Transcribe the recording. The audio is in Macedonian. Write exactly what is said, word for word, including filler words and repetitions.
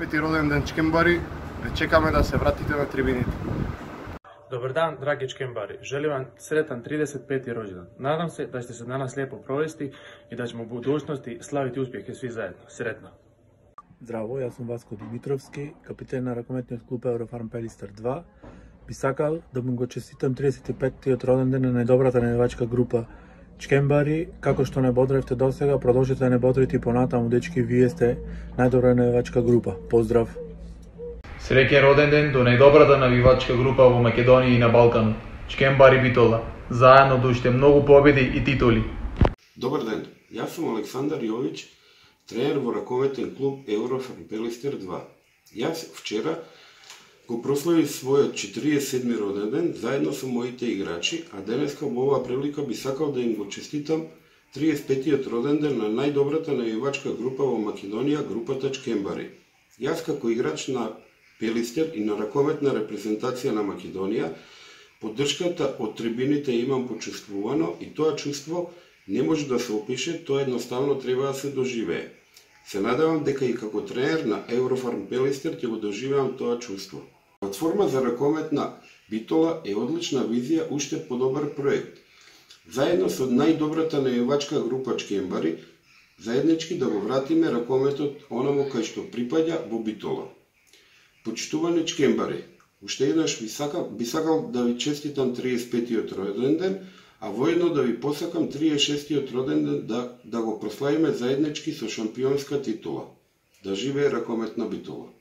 пети роден ден Чкембари, ве чекаме да се вратите на трибините. Добар дан, драги Чкембари. Желим вам сретан тридесет пети роđendan. Nadam se da ćete se danas lijepo provesti i da ćemo u budućnosti slaviti uspjehe svi zajedno. Sretno! Здраво, јас сум Васко Димитровски, капитен на ракометниот клуб Eurofarm Пелистер два. Би сакал да му го честитам тридесет и петтиот роден ден на најдобрата навивачка група Чкембари. Како што не бодревте досега, продолжите да не бодрите и понатаму, дечки, вие сте најдобра навивачка група. Поздрав! Среќен роден ден до најдобрата навивачка група во Македонија и на Балканот. Чкембари Битола. Заедно до уште многу победи и титули. Добар ден, јас сум Александар Јовиќ, тренер во ракометен клуб Eurofarm Пелистер два. Јас вчера го прославив својот четиридесет и седми роден ден заедно со моите играчи, а денеска во оваа прилика би сакал да им го честитам тридесет и петтиот роден ден на најдобрата навивачка група во Македонија, групата Чкембари. Јас како играч на Пелистер и на ракометна репрезентација на Македонија, поддршката од трибините имам почувствувано и тоа чувство не може да се опише, тоа едноставно треба да се доживее. Се надевам дека и како тренер на Eurofarm Пелистер ќе го доживеам тоа чувство. Платформа за ракометна Битола е одлична визија, уште подобар проект. Заедно со најдобрата навивачка група Чкембари, заеднички да го вратиме ракометот онаму кај што припаѓа во Битола. Почитувани Чкембари, уште еднаш би сакал, би сакал да ви честитам тридесет и петтиот роден ден, а воедно да ви посакам тридесет и шестиот роден ден да, да го прославиме заеднички со шампионска титула. Да живее ракометна Битола!